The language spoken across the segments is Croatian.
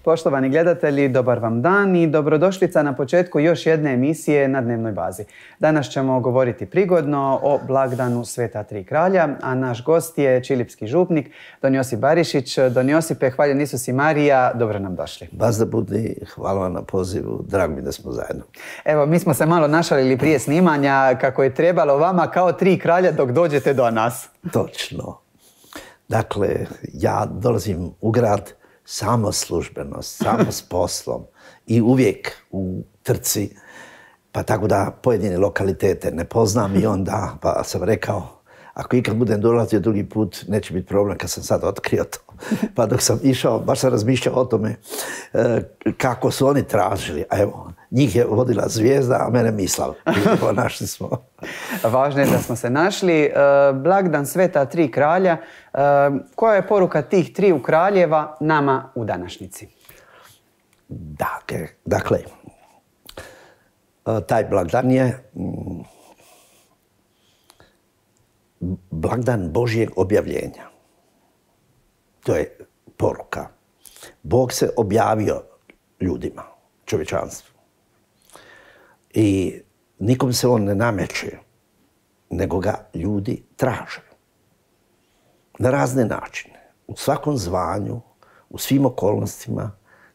Poštovani gledatelji, dobar vam dan i dobrodošlica na početku još jedne emisije na dnevnoj bazi. Danas ćemo govoriti prigodno o blagdanu Sveta Tri kralja, a naš gost je čilipski župnik Don Josip Barišić. Don Josipe, hvaljen Isus i Marija, dobro nam došli. Baš da budi, hvala vam na pozivu, drago mi da smo zajedno. Evo, mi smo se malo našalili prije snimanja kako je trebalo vama kao tri kralja dok dođete do nas. Točno. Dakle, ja dolazim u grad samo službeno, samo s poslom i uvijek u trci, pa tako da pojedine lokalitete ne poznam i onda pa sam rekao, ako ikad budem dolazio drugi put, neće biti problem kad sam sad otkrio to. Pa dok sam išao, baš sam razmišljao o tome kako su oni tražili. A evo, njih je vodila zvijezda, a mene Mislav. Našli smo. Važno je da smo se našli. Blagdan Sveta Tri kralja. Koja je poruka tih triju kraljeva nama u današnjici? Dakle, taj blagdan je blagdan Božjeg objavljenja. To je poruka. Bog se objavio ljudima, čovječanstvu. I nikom se on ne nameće, nego ga ljudi traže. Na razne načine. U svakom zvanju, u svim okolnostima,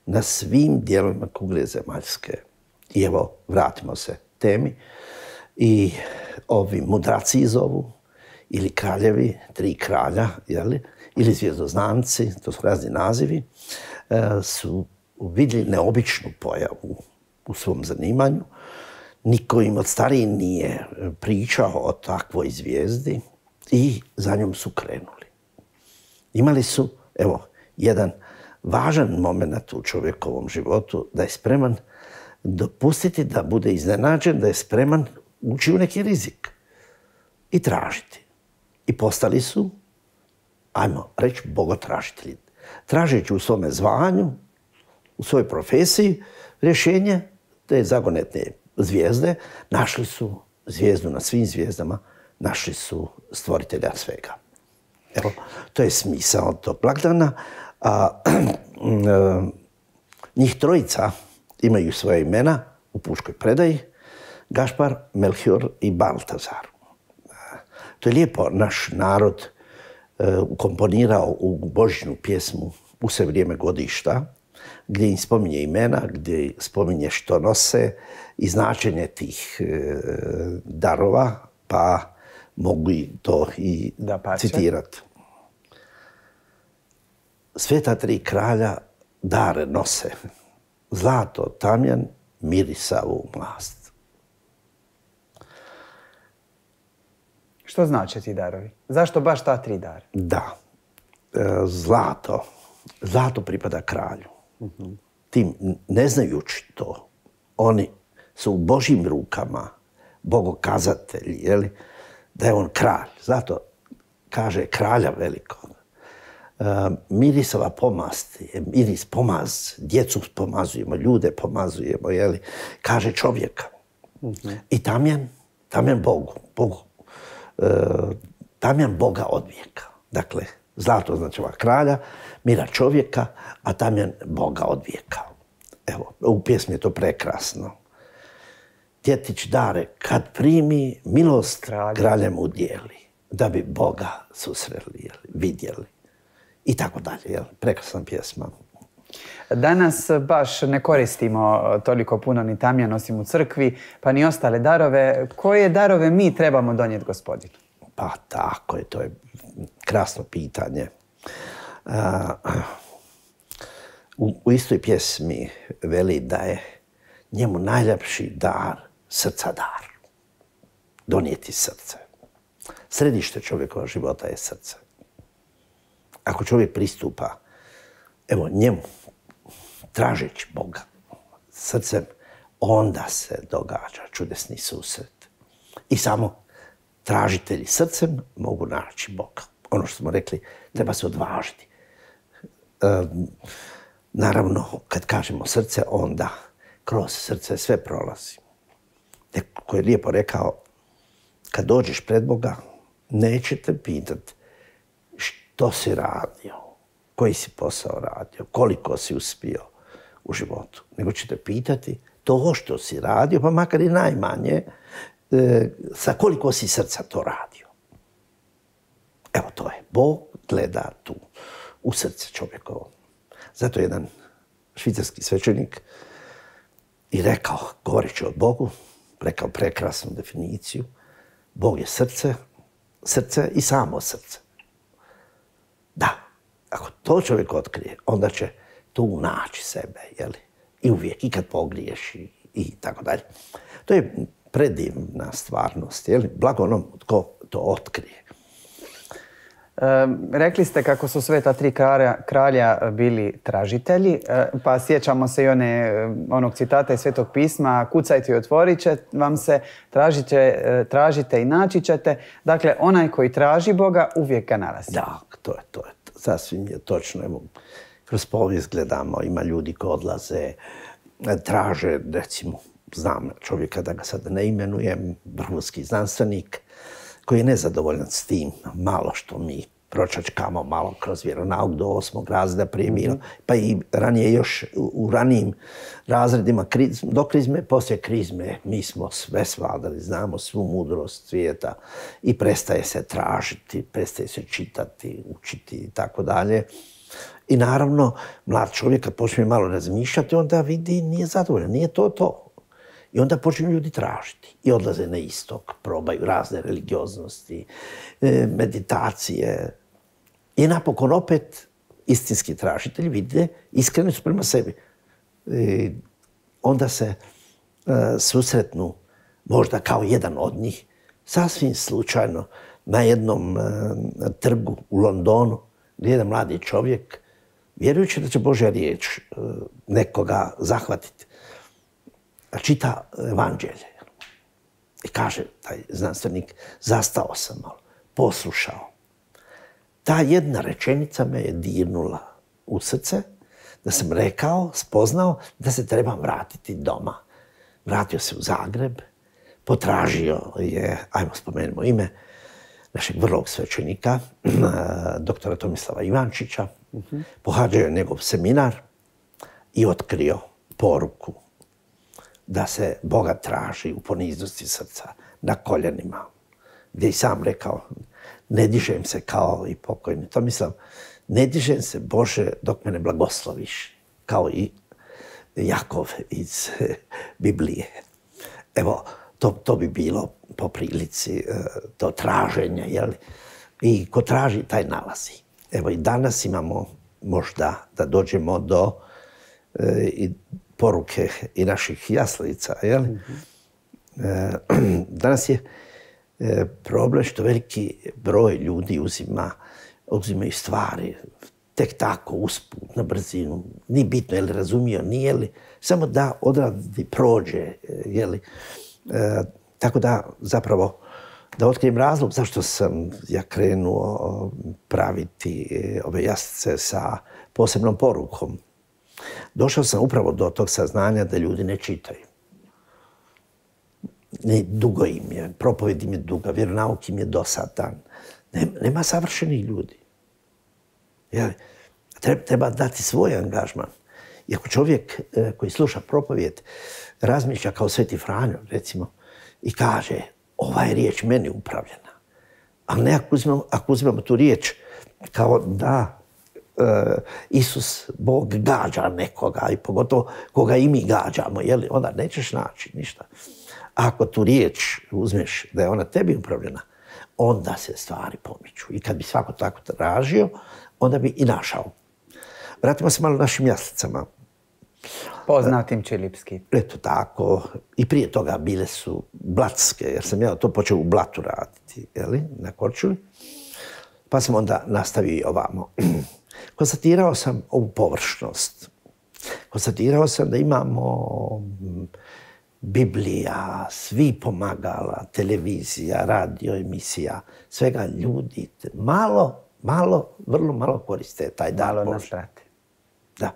na svim dijelovima kugle zemaljske. I evo, vratimo se temi. I ovi mudraci zovu, ili kraljevi, tri kralja, ili zvjezdoznanci, to su razni nazivi, su vidjeli neobičnu pojavu u svom zanimanju. Niko im od stariji nije pričao o takvoj zvijezdi i za njom su krenuli. Imali su, evo, jedan važan moment u čovjekovom životu, da je spreman dopustiti da bude iznenađen, da je spreman ući u neki rizik i tražiti. I postali su, ajmo reći, bogotražitelji. Tražeći u svome zvanju, u svojoj profesiji, rješenje te zagonetne zvijezde, našli su zvijezdu na svim zvijezdama, našli su stvoritelja svega. Evo, to je smisao tog blagdana. Njih trojica imaju svoje imena u puškoj predaji, Gašpar, Melchior i Baltazar. To je lijepo naš narod ukomponirao u božićnu pjesmu u sve vrijeme godišta, gdje im spominje imena, gdje spominje što nose i značenje tih darova, pa mogu to i citirati. Sveta tri kralja dare nose, zlato, tamjan, mirisavu mlast. Što znače ti darovi? Zašto baš ta tri dara? Da, zlato pripada kralju. Tim ne znajući to, oni su u Božjim rukama, bogokazatelji, da je on kralj. Zato kaže kralja velikog. Mirisova pomast je miris pomaz, djecu pomazujemo, ljude pomazujemo, kaže čovjeka. I tamjan Bogu. Tamjan Boga od vijeka. Dakle, zlato označava kralja, mira čovjeka, a tamjan Boga od vijeka. Evo, u pjesmi je to prekrasno. Djetić dare kad primi, milost kraljem udijeli, da bi Boga susreli, vidjeli. I tako dalje, prekrasna pjesma. Danas baš ne koristimo toliko puno ni tamjan osim u crkvi, pa ni ostale darove. Koje darove mi trebamo donijeti Gospodinu? Pa tako je, to je krasno pitanje. U istoj pjesmi veli da je njemu najljepši dar srca dar. Donijeti srce. Središte čovjekova života je srce. Ako čovjek pristupa, evo, njemu, tražeći Boga srcem, onda se događa čudesni susret. I samo tražitelji srcem mogu naći Boga. Ono što smo rekli, treba se odvažiti. Naravno, kad kažemo srce, onda kroz srce sve prolazi. Neko je lijepo rekao, kad dođeš pred Boga, nećete pitati što si radio, koji si posao radio, koliko si uspio, u životu, nego ćete pitati to što si radio, pa makar i najmanje, sa koliko si srca to radio. Evo to je. Bog gleda tu, u srce čovjekovo. Zato je jedan švicarski svećenik i rekao, govoreći o Bogu, rekao prekrasnu definiciju, Bog je srce, srce i samo srce. Da, ako to čovjek otkrije, onda će tu naći sebe, jeli? I uvijek, i kad pogriješi, i tako dalje. To je predivna stvarnost, jeli? Blago onom tko to otkrije. Rekli ste kako su sveta tri kralja bili tražitelji, pa sjećamo se i onog citata iz Svetog pisma, kucajte i otvorit će vam se, tražite i naći ćete. Dakle, onaj koji traži Boga uvijek ga nalazi. Da, to je. Sasvim je točno. Evo, kroz povijest gledamo, ima ljudi koji odlaze, traže, recimo, znam čovjeka, da ga sad ne imenujem, vrhunski znanstvenik, koji je nezadovoljan s tim, malo što mi pročačkamo malo kroz vjeronauk do 8. razreda prije bilo, pa i ranije još u ranijim razredima do krizme, poslije krizme mi smo sve svladali, znamo svu mudrost svijeta i prestaje se tražiti, prestaje se čitati, učiti i tako dalje. I naravno, mlad čovjek kad počne malo razmišljati, onda vidi nije zadovoljan, nije to. I onda počinju ljudi tražiti i odlaze na istok, probaju razne religioznosti, meditacije. I napokon opet istinski tražitelji vide iskreni su prema sebi. Onda se susretnu možda kao jedan od njih, sasvim slučajno, na jednom trgu u Londonu, gdje jedan mladi čovjek, vjerujući da će Božja riječ nekoga zahvatiti, čita evanđelje. I kaže taj znanstvenik, zastao sam malo, poslušao. Ta jedna rečenica me je dirnula u srce, da sam rekao, spoznao da se trebam vratiti doma. Vratio se u Zagreb, potražio je, ajmo spomenimo ime, našeg vrlog svećenika, doktora Tomislava Ivančića, pohađao je njegov seminar i otkrio poruku da se Boga traži u poniznosti srca, na koljenima, gdje i sam rekao, ne dižem se kao i pokojni Tomislav, ne dižem se, Bože, dok me ne blagosloviš, kao i Jakov iz Biblije. Evo, to bi bilo po prilici to traženje, jel? I ko traži, taj nalazi. Evo i danas imamo možda da dođemo do poruke i naših jaslica, jel? Danas je problem što veliki broj ljudi uzimaju stvari tek tako, usput, na brzinu. Nije bitno je li razumio, nije li, samo da odradi, prođe, jeli. Tako da, zapravo, da otkrijem razlog zašto sam ja krenuo praviti ove jaslice sa posebnom porukom. Došao sam upravo do tog saznanja da ljudi ne čitaju. Dugo im je, propovjed im je duga, vjeronauk im je dosadan. Nema savršenih ljudi. Treba dati svoj angažman. I ako čovjek koji sluša propovjed razmišlja kao Sveti Franjo, recimo, i kaže, ova je riječ meni upravljena. Ali ne ako uzmemo tu riječ kao da Isus, Bog, gađa nekoga i pogotovo koga i mi gađamo, jeli, onda nećeš naći ništa. Ako tu riječ uzmeš da je ona tebi upravljena, onda se stvari pomiču. I kad bi svako tako tražio, onda bi i našao. Vratimo se malo našim jaslicama. Poznatim čilipski. Eto tako. I prije toga bile su blatske, jer sam ja to počeo u Blatu raditi, jeli, na Korčuli. Pa sam onda nastavio i ovamo. Konstatirao sam ovu površnost. Konstatirao sam da imamo Biblija, svi pomagala, televizija, radio, emisija, svega ljudi. Vrlo malo koriste taj dar Božji. Malo nas prate. Da.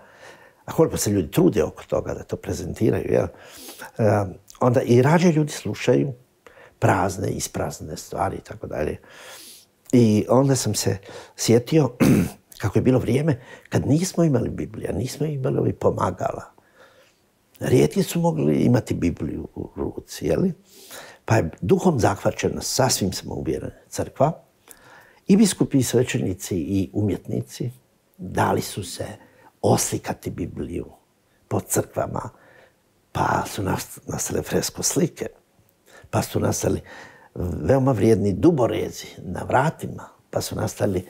A koliko se ljudi trude oko toga da to prezentiraju, jel? Onda i rađe ljudi slušaju prazne, isprazne stvari i tako dalje. I onda sam se sjetio kako je bilo vrijeme kad nismo imali Biblija, nismo imali ovih pomagala. Rijetki su mogli imati Bibliju u ruci, jeli? Pa je duhom zahvaćena, sasvim smo uvjereni, crkva. I biskupi, i svećenici, i umjetnici dali su se oslikati Bibliju po crkvama. Pa su nastale fresko slike, pa su nastali veoma vrijedni duborezi na vratima, pa su nastali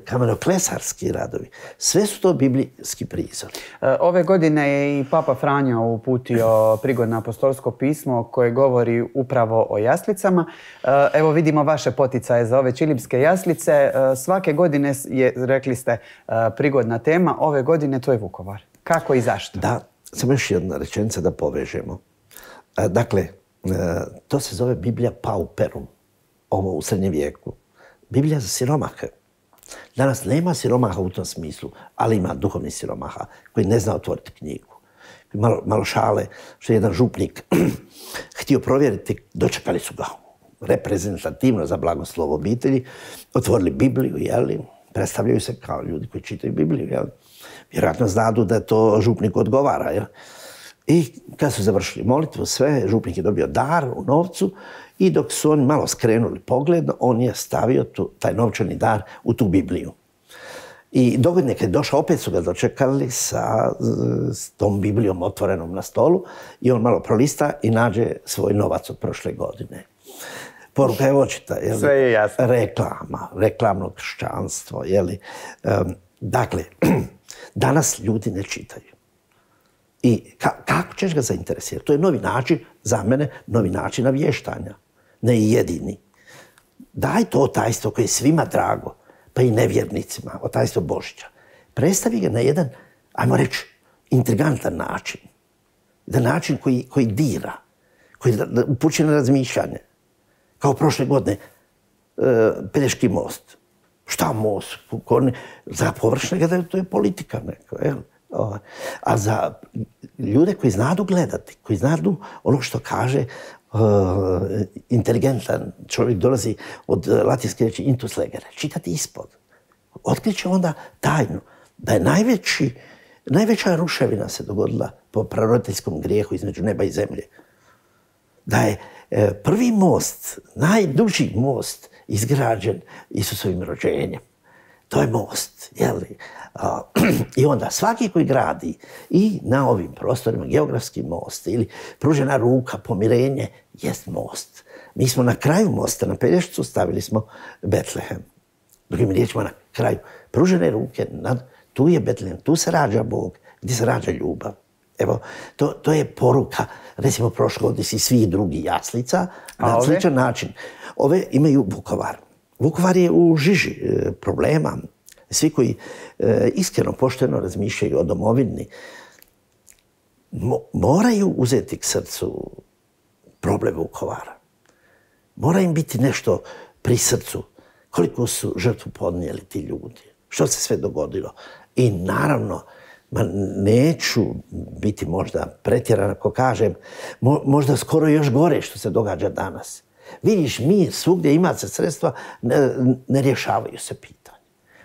kamenoklesarski radovi. Sve su to biblijski prizori. Ove godine je i Papa Franjo uputio prigodno apostolsko pismo koje govori upravo o jaslicama. Evo vidimo vaše poticaje za ove čilipske jaslice. Svake godine je, rekli ste, prigodna tema. Ove godine to je Vukovar. Kako i zašto? Da, samo još jedna rečenica da povežemo. Dakle, to se zove Biblija Pauperum, ovo u srednjem vijeku. Biblija za siromahe. Danas nema siromaha u tom smislu, ali ima duhovnih siromaha koji ne zna otvoriti knjigu. Malo šale, što je jedan župnik htio provjeriti, dočekali su ga reprezentativno za blagoslov obitelji, otvorili Bibliju, jeli, predstavljaju se kao ljudi koji čitaju Bibliju, jeli. Vjerojatno znadu da to župnik odgovara, jeli. I kad su završili molitvu, sve, župnik je dobio dar u novcu i dok su oni malo skrenuli pogled, on je stavio taj novčani dar u tu Bibliju. I dogodine kad je došao, opet su ga dočekali sa tom Biblijom otvorenom na stolu i on malo prolista i nađe svoj novac od prošle godine. Poruka je očita, jeli? Sve je jasno. Reklama, reklamno kršćanstvo, jeli? Dakle, danas ljudi ne čitaju. I kako ćeš ga zainteresirati? To je novi način, za mene, novi način navještanja. Ne i jedini. Daj to tajstvo koje je svima drago, pa i nevjernicima, o tajstvo Božića. Predstavi ga na jedan, ajmo reći, intrigantan način. Da način koji dira, koji upućuje na razmišljanje. Kao prošle godine, Pelješki most. Šta most? Za površnega to je politika neka, jel? A za ljude koji znadu gledati, koji znadu ono što kaže inteligentan čovjek, dolazi od latinske riječi intus legere, čitati ispod. Otkriće onda tajnu da je najveća ruševina se dogodila po praroditeljskom grijehu između neba i zemlje. Da je prvi most, najduži most izgrađen Isusovim rođenjem. To je most, jeli? I onda svaki koji gradi i na ovim prostorima geografski most ili pružena ruka, pomirenje, jest most. Mi smo na kraju mosta, na Pelješcu, stavili smo Betlehem. Drugim riječima, na kraju pružene ruke, tu je Betlehem, tu se rađa Bog, gdje se rađa ljubav. Evo, to je poruka, recimo prošle godine i svih drugih jaslica, na sličan način. Ove imaju Vukovar. Vukovar je u žiži problema. Svi koji iskreno, pošteno razmišljaju o domovini, moraju uzeti k srcu problem Vukovara. Mora im biti nešto pri srcu. Koliko su žrtvu podnijeli ti ljudi. Što se sve dogodilo. I naravno, neću biti možda pretjeran ako kažem, možda skoro još gore što se događa danas. Vidiš, mi svugdje ima se sredstva, ne rješavaju se pitanja.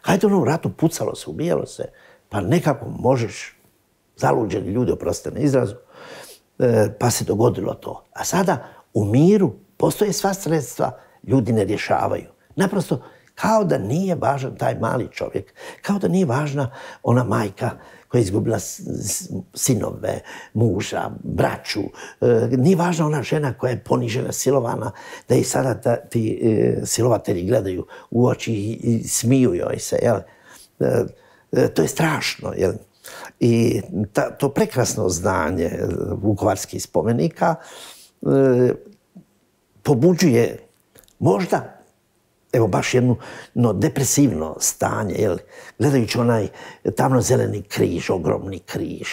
Hajde ono u ratu pucalo se, ubijalo se, pa nekako možeš, zaluđeni ljudi, oprostite na izrazu, pa se dogodilo to. A sada u miru postoje sva sredstva, ljudi ne rješavaju. Naprosto, kao da nije važan taj mali čovjek, kao da nije važna ona majka koja je izgubila sinove, muža, braću. Nije važna ona žena koja je ponižena, silovana, da i sada ti silovatelji gledaju u oči i smiju joj se. Jel? To je strašno. Jel? I to prekrasno zdanje vukovarskih spomenika pobuđuje možda evo baš jedno depresivno stanje, jel? Gledajući onaj tamno-zeleni križ, ogromni križ,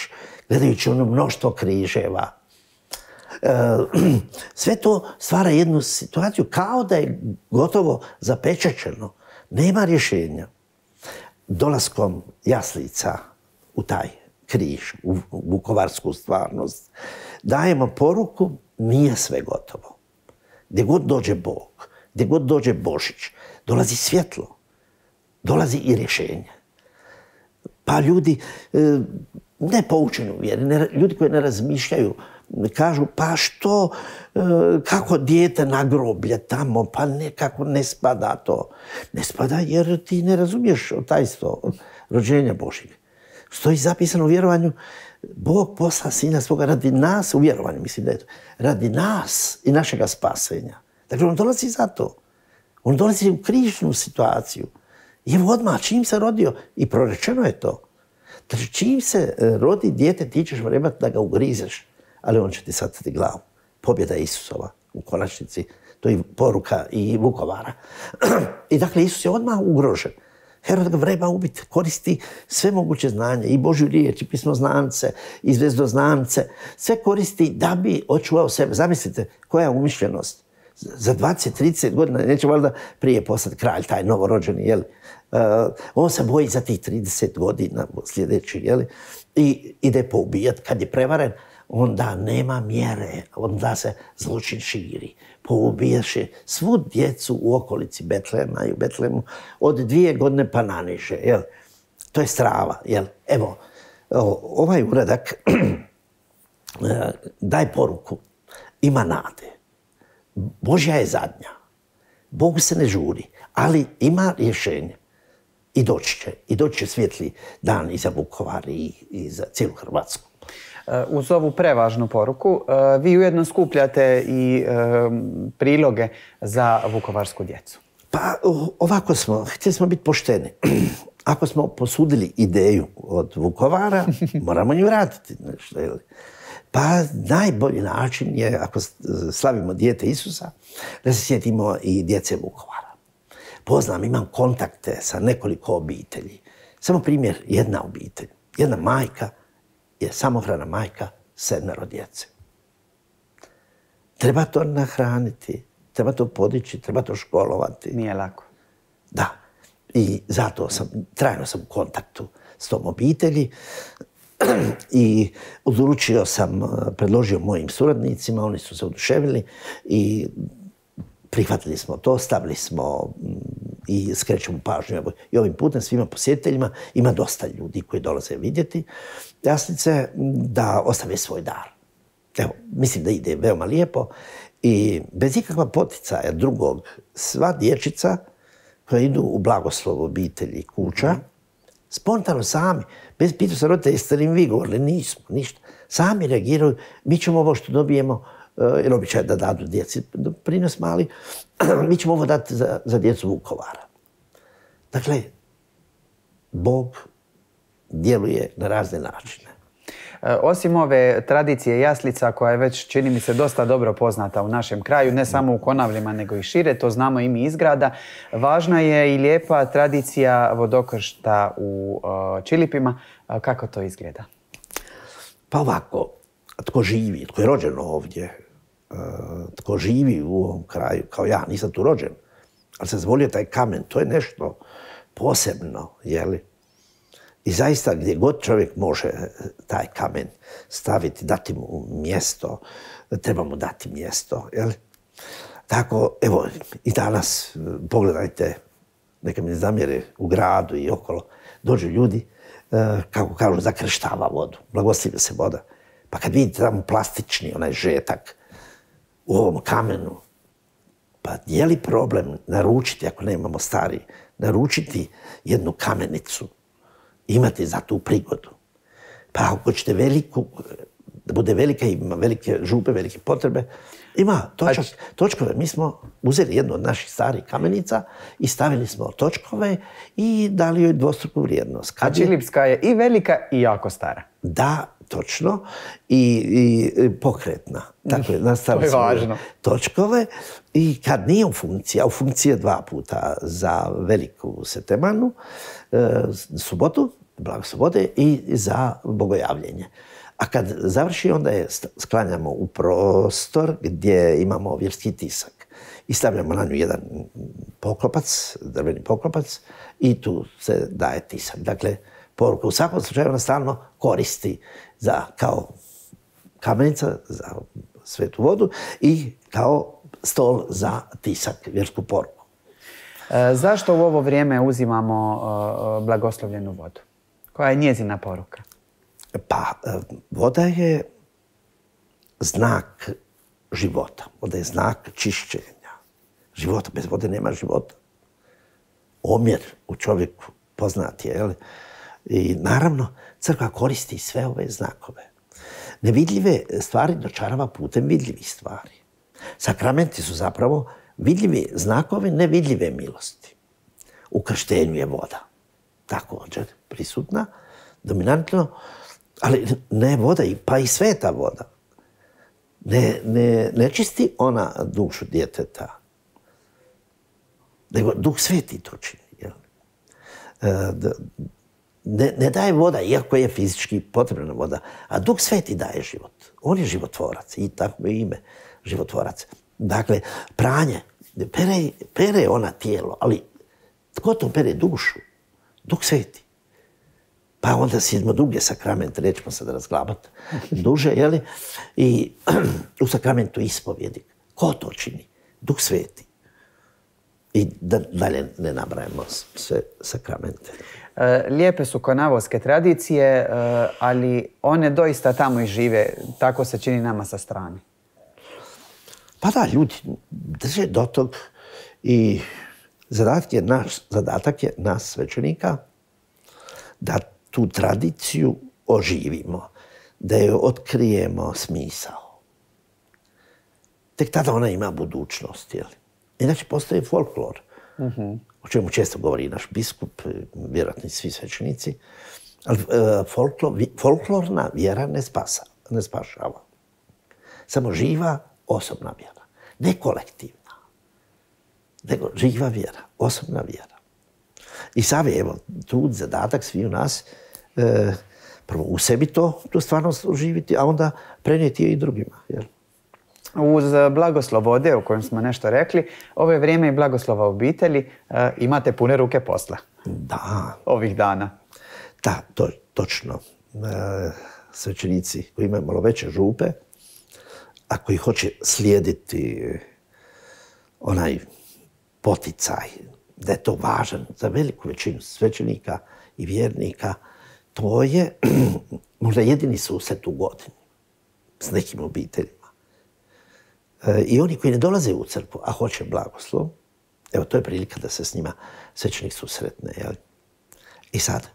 gledajući ono mnoštvo križeva. Sve to stvara jednu situaciju kao da je gotovo zapečaćeno. Nema rješenja. Dolaskom jaslica u taj križ, u vukovarsku stvarnost, dajemo poruku, nije sve gotovo. Gdje god dođe Bog, gdje god dođe Božić, dolazi svjetlo, dolazi i rješenje. Pa ljudi ne poučeni u vjeri, ljudi koji ne razmišljaju, kažu pa što, kako dijete na groblje tamo, pa nekako ne spada to. Ne spada jer ti ne razumiješ tajstvo rođenja Božjeg. Stoji zapisano u vjerovanju, Bog posla sina svoga radi nas, u vjerovanju mislim da je to, radi nas i našega spasenja. Dakle, on dolazi za to. On dolazi u križnu situaciju. I evo odmah, čim se rodio, i prorečeno je to. Znači, čim se rodi dijete, ti ćeš vrebati da ga ugrizeš, ali on će ti sacati glavu. Pobjeda Isusova u konačnici. To je poruka i Vukovara. I dakle, Isus je odmah ugrožen. Herod ga vreba ubiti, koristi sve moguće znanje, i Božju riječ, i pismoznance, i zvezdoznance. Sve koristi da bi očuvao sebe. Zamislite, koja je umišljenost. Za 20-30 godina, neće valjda prije postati kralj, taj novorođeni, jel? On se boji za tih 30 godina sljedeći, jel? I ide poubijati. Kad je prevaren, onda nema mjere, onda se zločin širi. Poubijaše svu djecu u okolici Betlema i u Betlemu od 2 godine pa naniže, jel? To je strava, jel? Evo, ovaj uradak daje poruku, ima nade. Božja je zadnja. Bogu se ne žuri, ali ima rješenje. I doći će svjetli dan i za Vukovar i za cijelu Hrvatsku. Uz ovu prevažnu poruku, vi ujedno skupljate i priloge za vukovarsku djecu. Pa ovako htjeli smo biti pošteni. Ako smo posudili ideju od Vukovara, moramo ju vratiti. Pa najbolji način je, ako slavimo dijete Isusa, da se sjetimo i djece Vukovara. Poznam, imam kontakte sa nekoliko obitelji. Samo primjer, jedna obitelj. Jedna majka je samohrana majka, 7 djece. Treba to nahraniti, treba to podići, treba to školovati. Nije lako. Da. I zato trajno sam u kontaktu s tom obitelji. I odlučio sam, predložio mojim suradnicima, oni su se oduševili i prihvatili smo to, stavili smo i skrećemo pažnju. I ovim putem svima posjetiteljima, ima dosta ljudi koji dolaze vidjeti jaslice, da ostave svoj dar. Evo, mislim da ide veoma lijepo i bez ikakva poticaja drugog, sva dječica koja idu u blagoslov obitelji kuća, spontano sami, bez pitanja se roditelja, jeste li im vi govorili? Nismo, ništa. Sami reagiraju, mi ćemo ovo što dobijemo, jer običaj da dadu djeci prinos mali, mi ćemo ovo dati za djecu Vukovara. Dakle, Bog djeluje na razne načine. Osim ove tradicije jaslica koja je već, čini mi se, dosta dobro poznata u našem kraju, ne samo u Konavlima nego i šire, to znamo i mi iz grada, važna je i lijepa tradicija vodokršta u Čilipima. Kako to izgleda? Pa ovako, tko živi, tko je rođen ovdje, tko živi u ovom kraju, kao ja, nisam tu rođen, ali sam zvolio taj kamen, to je nešto posebno, jeli? I zaista gdje god čovjek može taj kamen staviti, dati mu mjesto, treba mu dati mjesto. Jel? Tako, evo, i danas, pogledajte, neka mi ne zamjere, u gradu i okolo, dođu ljudi, kako kažu, zakrštava vodu, blagoslivlja se voda. Pa kad vidite tamo plastični onaj žetak u ovom kamenu, pa je li problem naručiti, ako nemamo stari, naručiti jednu kamenicu, imati za tu prigodu. Pa ako ćete veliku, da bude velika, ima velike župe, velike potrebe, ima točkove. Mi smo uzeli jednu od naših starih kamenica i stavili smo točkove i dali joj dvostruku vrijednost. A Čilipska je i velika i jako stara. Da, točno. I pokretna. Dakle, nastavili smo točkove i kad nije u funkciji, a u funkciji je 2 puta za veliku setemanu, subotu, blago subote, i za bogojavljenje. A kad završi, onda je sklanjamo u prostor gdje imamo vjerski tisak. I stavljamo na nju jedan poklopac, drveni poklopac, i tu se daje tisak. Dakle, poruka u svakom slučaju ona stalno koristi kao kamenica za svetu vodu i kao stol za tisak, vjersku poruku. Zašto u ovo vrijeme uzimamo blagoslovljenu vodu? Koja je njezina poruka? Pa, voda je znak života. Voda je znak čišćenja života. Bez vode nema života. Omjer u čovjeku poznat je, jel? I naravno, crkva koristi sve ove znakove. Nevidljive stvari dočarava putem vidljivih stvari. Sakramenti su zapravo vidljivi znakovi nevidljive milosti. U krštenju je voda također prisutna, dominantno, ali ne voda, pa i sveta voda. Ne čisti ona dušu djeteta, nego Duh Sveti to čini. Jel? Ne daje voda, iako je fizički potrebna voda, a Duh Sveti daje život. On je životvorac i tako je ime životvorac. Dakle, pranje, pere ona tijelo, ali tko to pere dušu? Duh Sveti. Pa onda idemo druge sakramente, nećemo sad razglabati duže, jeli? I u sakramentu ispovjedi. Ko to čini? Duh Sveti. I dalje ne nabrajamo sve sakramente. Lijepe su konavoske tradicije, ali one doista tamo i žive. Tako se čini nama sa strane. Pa da, ljudi drže do tog i zadatak je nas svećenika da tu tradiciju oživimo, da joj otkrijemo smisao. Tek tada ona ima budućnost, jel? Inače postoji folklor, o čemu često govori naš biskup, vjerojatno i svi svećenici, ali folklorna vjera ne spašava. Samo živa osobna vjera, ne kolektivna, nego živa vjera, osobna vjera. I sad je, evo, trud, zadatak svi u nas, prvo u sebi tu stvarnost oživiti, a onda prenijeti je i drugima. Jer... Uz blagoslov vode, o kojem smo nešto rekli, ovo je vrijeme i blagoslova obitelji. Imate pune ruke posla. Da. Ovih dana. Da, točno. Svećenici koji imaju malo veće župe, a koji hoće slijediti onaj poticaj, da je to važan za veliku većinu svećenika i vjernika, to je možda jedini susret u godini s nekim obiteljima. I oni koji ne dolaze u crkvu, a hoće blagoslov, evo, to je prilika da se s njima svećenik susretne. Jel? I sad,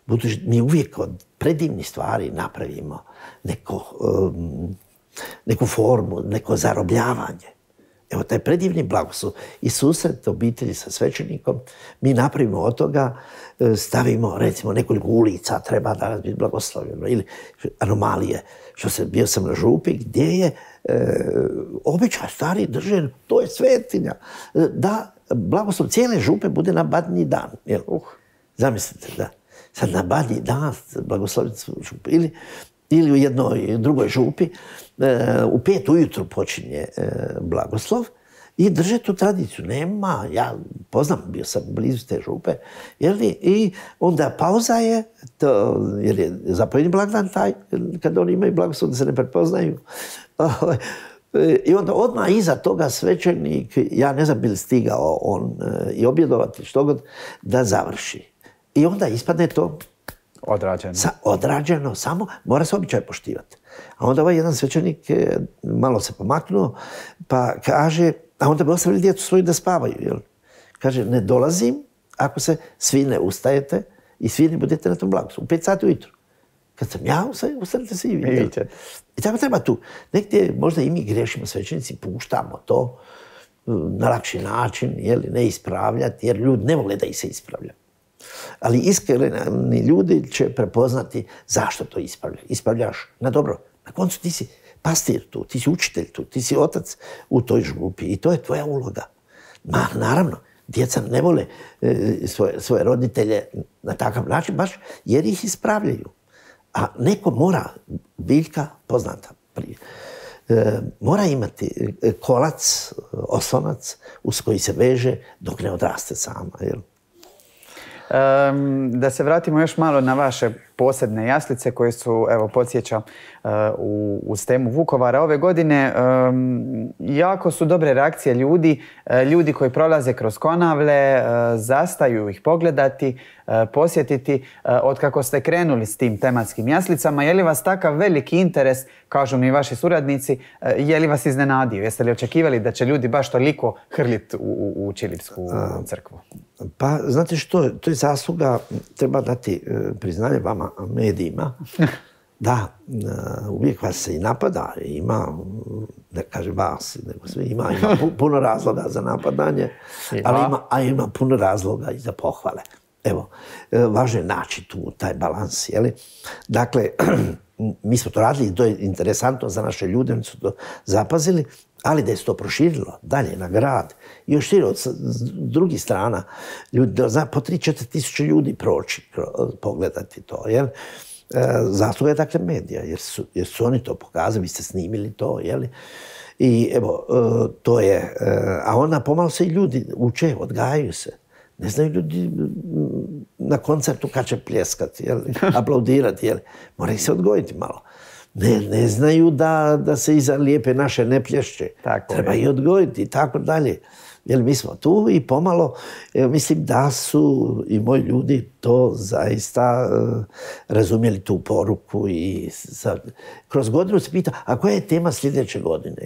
budući mi uvijek od predivnih stvari napravimo neku formu, neko zarobljavanje. Evo, taj predivni blagoslov i susret obitelji sa svećenikom, mi napravimo od toga, stavimo, recimo, nekoliko ulica, treba danas biti blagoslovljeno, ili anomalije. Bio sam na župi gdje je običaj stari držen, to je svetinja, da blagoslov cijele župe bude na badnji dan. Zamislite, da. Sad na badnji dan blagosloviti župu. Ili u jednoj drugoj župi, u 5 ujutru počinje blagoslov i drže tu tradiciju. Nema, ja poznam, bio sam blizu te župe, i onda pauza je, jer je zapovjedni blagdan taj, kad oni imaju blagoslov da se ne prepoznaju. I onda odmah iza toga svećenik, ja ne znam bi li stigao on i objedovati što god, da završi. I onda ispadne to odrađeno, samo mora se običaj poštivati. A onda ovaj jedan svećenik malo se pomaknuo, pa kaže, a onda bi ostavili djecu svoju da spavaju. Jel? Kaže, ne dolazim ako se svi ne ustajete i svi ne budete na tom blagoslovu. U 5 sati ujutru. Kad sam ja, ustanete se i vi. I tako treba tu. Negdje možda i mi grešimo svećenici, puštamo to na lakši način, ne ispravljati, jer ljudi ne vole da ih se ispravlja. Ali iskreni ljudi će prepoznati zašto to ispravljaš. Ispravljaš na dobro. Na koncu ti si pastir tu, ti si učitelj tu, ti si otac u toj župi i to je tvoja uloga. Naravno, djeca ne vole svoje roditelje na takav način, baš jer ih ispravljaju. A neko mora, biljka poznata prije, mora imati kolac, oslonac uz koji se veže dok ne odraste sama. Jel? Da se vratimo još malo na vaše posebne jaslice koje su, evo, podsjećam, uz temu Vukovara ove godine. Jako su dobre reakcije ljudi koji prolaze kroz Konavle, zastaju ih pogledati, posjetiti. Otkako ste krenuli s tim tematskim jaslicama, je li vas takav veliki interes, kažu mi vaši suradnici, je li vas iznenadio? Jeste li očekivali da će ljudi baš toliko hrliti u Čilipsku crkvu? Pa, znate što, to je zasluga, treba dati priznanje vama, medijima. Da, uvijek vas se i napada, ima, ne kažem vas, nego sve, ima puno razloga za napadanje, ali ima puno razloga i za pohvale. Evo, važno je naći tu taj balans, jeli? Dakle, mi smo to radili i to je interesantno za naše ljude, oni su to zapazili, ali da je se to proširilo dalje na grad i još šire od drugih strana, ljudi, po 3-4 tisuće ljudi proći, pogledati to, jel? Zasluga je dakle medija, jer su oni to pokazali, vi ste snimili to, jeli? I evo, to je, a onda pomalo se i ljudi uče, odgajaju se. Ne znaju ljudi na koncertu kad će pljeskati, jeli? Aplaudirati, jeli? Moraju se odgojiti malo. Ne znaju da se iza lijepe naše ne plješće. Treba i odgojiti i tako dalje. Jer mi smo tu i pomalo, mislim da su i moji ljudi to zaista razumjeli tu poruku i kroz godinu se pita, a koja je tema sljedeće godine?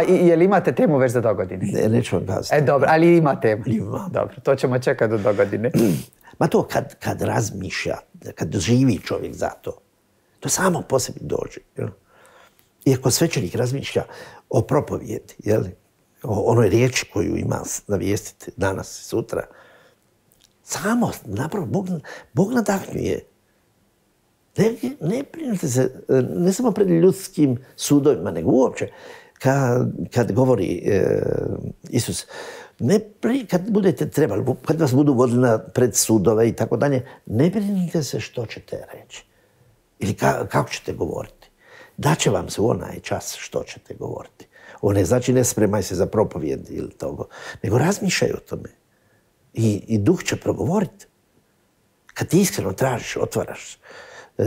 Je li imate temu već za dogodine? Ne, neću vam kazati. Dobro, ali ima temu. Ima. Dobro, to ćemo čekati do dogodine. Ma to kad razmišlja, kad živi čovjek za to, to samo po sebi dođe. Iako svećenik razmišlja o propovjedi, jel? O onoj riječi koju ima navijestiti danas i sutra. Samo, napravo, Bog nadahnjuje. Ne brinite se, ne samo pred ljudskim sudovima, nego uopće. Kad govori Isus, kad budete trebali, kad vas budu vodili pred sudove i tako dalje, ne brinite se što ćete reći. Ili kako ćete govoriti. Daće vam se u onaj čas što ćete govoriti. Ovo ne znači ne spremaj se za propovijed ili toga, nego razmišljaj o tome. I duh će progovoriti. Kad ti iskreno tražiš, otvaraš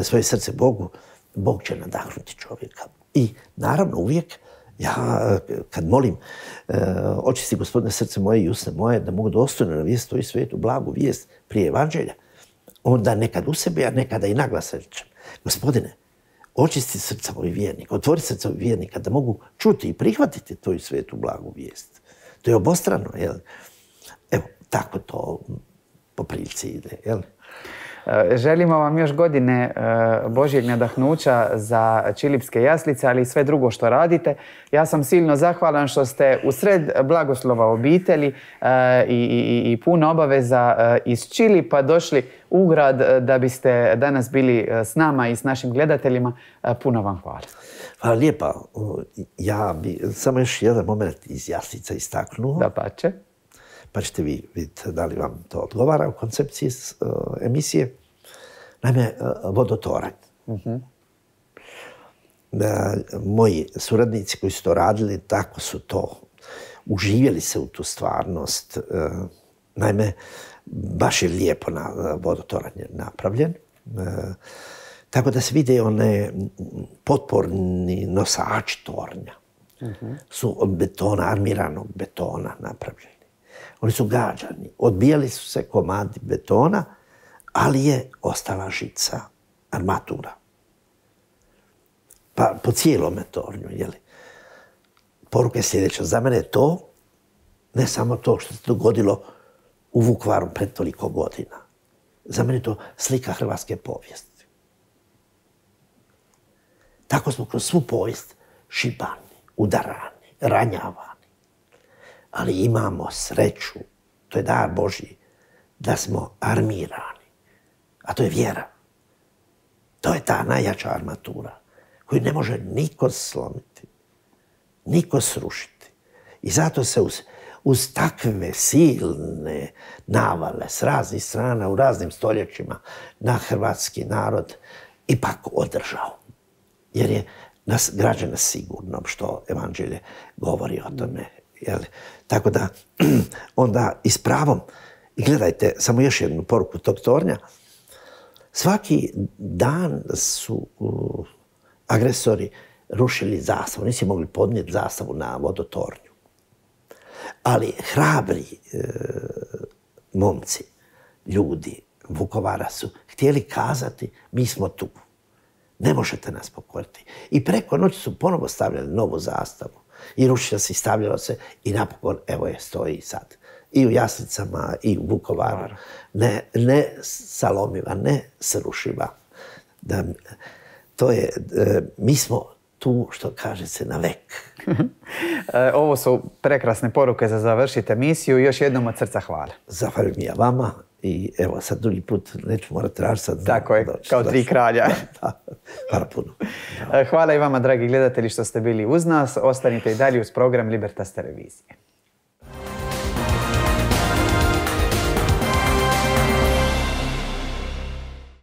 svoje srce Bogu, Bog će nadahnuti čovjeka. I naravno uvijek, ja kad molim, očisti Gospodine srce moje i usne moje, da mogu dostojno navijesti tvoju svetu blagu vijest prije evanđelja, onda nekad u sebi, a nekada i naglas rečem, Gospodine, očisti srca ovih vjernika, otvori srca ovih vjernika da mogu čuti i prihvatiti tvoju svetu blagu vijest. To je obostrano, jel? Evo, tako to po prilici ide, jel? Želimo vam još godine Božjeg nadahnuća za Čilipske jaslice, ali i sve drugo što radite. Ja sam silno zahvalan što ste usred blagoslova obitelji i puno obaveza iz Čilipa došli u grad da biste danas bili s nama i s našim gledateljima. Puno vam hvala. Hvala lijepa. Ja bi samo još jedan moment iz jaslica istaknuo. Da pače. Pa ćete vi vidjeti da li vam to odgovara u koncepciji emisije. Naime, vodotoranj. Moji suradnici koji su to radili, tako su to, uživjeli se u tu stvarnost. Naime, baš je lijepo vodotoranj napravljen. Tako da se vide one potporni nosači tornja. Su od betona, armiranog betona napravljeni. Oni su gađani, odbijali su se komadi betona, ali je ostala žica, armatura. Pa po cijelome tornju, jeli. Poruka je sljedeća. Za mene je to, ne samo to što se dogodilo u Vukovaru pred toliko godina. Za mene je to slika hrvatske povijesti. Tako smo kroz svu povijest šibani, udarani, ranjavani. Ali imamo sreću, to je dar Božji, da smo armirani. A to je vjera. To je ta najjača armatura koju ne može niko slomiti, niko srušiti. I zato se uz takve silne navale s raznih strana u raznim stoljećima na hrvatski narod ipak održao. Jer je nas građana sigurno što evanđelje govori o tome. Jel? Tako da onda i s pravom, i gledajte, samo još jednu poruku tog tornja, Svaki dan su agresori rušili zastavu. Nisi mogli podnijeti zastavu na vodotornju. Ali hrabri momci, ljudi Vukovara su htjeli kazati mi smo tu. Ne možete nas pokoriti. I preko noći su ponovo stavljali novu zastavu. I rušilo se i stavljalo se i napokon, evo je, stoji sad. I u Jaslicama i u Vukovaru. Ne salomiva, ne srušiva. Mi smo tu, što kaže se, na vek. Ovo su prekrasne poruke za završiti emisiju. Još jednom od srca hvala. Zahvaljujem ja vama i evo sad drugi put neću morati tražiti. Tako je, kao tri kralja. Hvala puno. Hvala i vama, dragi gledatelji, što ste bili uz nas. Ostanite i dalje uz program Libertas televizije.